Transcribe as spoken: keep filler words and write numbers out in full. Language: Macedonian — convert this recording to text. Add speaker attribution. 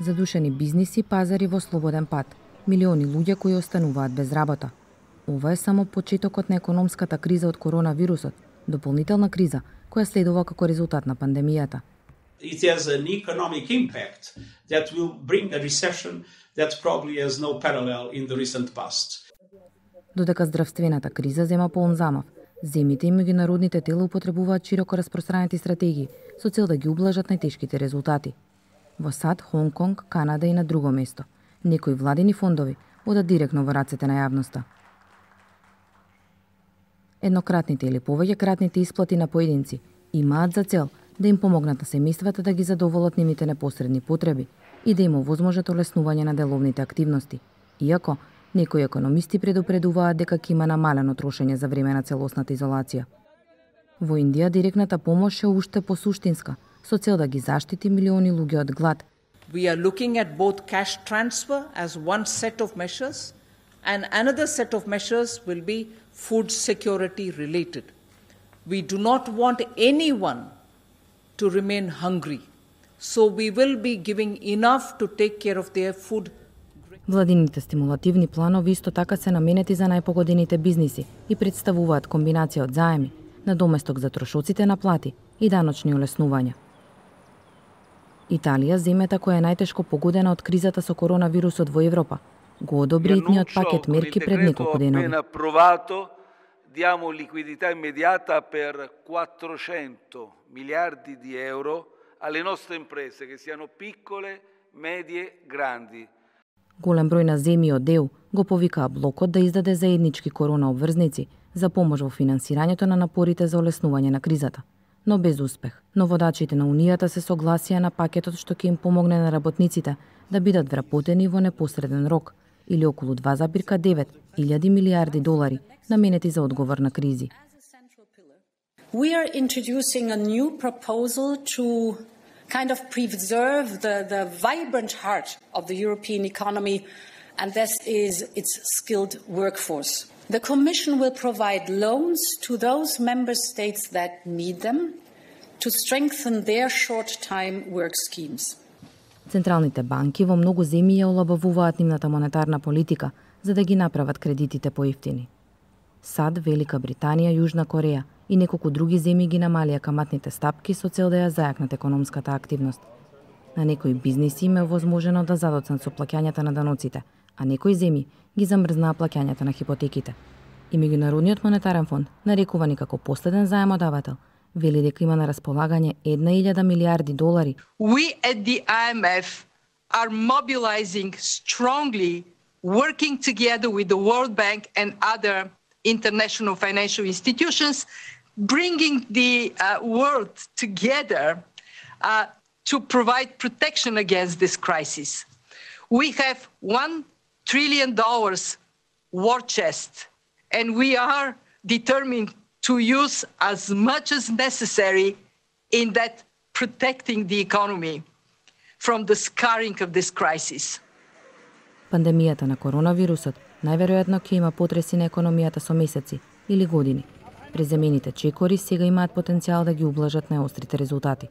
Speaker 1: Задушени бизниси, пазари во слободен пат, милиони луѓе кои остануваат без работа. Ова е само почетокот на економската криза од коронавирусот, дополнителна криза која следува како резултат на пандемијата.
Speaker 2: It has an economic impact that will bring a recession that probably has no parallel in the recent past.
Speaker 1: Додека здравствената криза зема полн замав, земите и меѓународните тела употребуваат широко распространети стратегии со цел да ги ублажат најтешките резултати. Во САД, Хонг Конг, Канада и на друго место, некои владини фондови одат директно во рацете на јавноста. Еднократните или повеќекратните исплати на поединци имаат за цел да им помогнат на семејствата да ги задоволат нивните непосредни потреби и да им овозможат олеснување на деловните активности, иако некои економисти предупредуваат дека ќе има намалено трошење за време на целосната изолација. Во Индија директната помош е уште посуштинска, со цел да ги заштити милиони луѓе од глад.
Speaker 3: We are looking at both cash transfer as one set of measures and another set of measures will be food security related. We do not want anyone to remain hungry. So we will be giving enough to take care of their food.
Speaker 1: Владините стимулативни планови исто така се наменети за најпогодените бизниси и представуваат комбинација од заеми, надоместок за трошоците на плати и даночни олеснувања. Италија, земјата која е најтешко погодена од кризата со коронавирусот во Европа, го одобри итниот пакет мерки пред неколку денови.
Speaker 4: Diamo liquidità immediata per quattrocento miliardi di euro alle nostre imprese, che siano piccole, medie, grandi.
Speaker 1: Голем број на земји од Е У го повикаа блокот да издаде заеднички корона обврзници за помош во финансирањето на напорите за олеснување на кризата, но без успех. Но водачите на Унијата се согласија на пакетот што ќе им помогне на работниците да бидат вработени во непосреден рок, или околу два zarez девет илјади милијарди долари наменети за одговор на кризи.
Speaker 5: We are introducing a new proposal to kind of preserve the, the vibrant heart of the European economy, and this is its skilled workforce. The Commission will provide loans to those member states that need them to strengthen their short-time work schemes.
Speaker 1: Централните банки во многу земји ја олабавуваат нивната монетарна политика за да ги направат кредитите поевтини. САД, Велика Британија, Јужна Кореја и неколку други земји ги намалија каматните стапки со цел да ја зајакнат економската активност. На некои бизниси им е возможено да задоцнат со плаќањата на даноците, а некои земји ги замрзнаа плаќањата на хипотеките. И Меѓународниот монетарен фонд, нарекувани како последен заемодавател, вели дека има на располагање една илјада милијарди долари.
Speaker 6: We at the I M F are mobilizing strongly, working together with the World Bank and other international financial institutions, bringing the uh, world together uh, to provide protection against this crisis. We have one trillion dollars war chest, and we are determined to use as much as necessary in that protecting the economy from the scarring of this crisis.
Speaker 1: Пандемијата на коронавирусот најверојатно ќе има потреси на економијата со месеци или години. Преземените чекори сега имаат потенцијал да ги ублажат најострите резултати.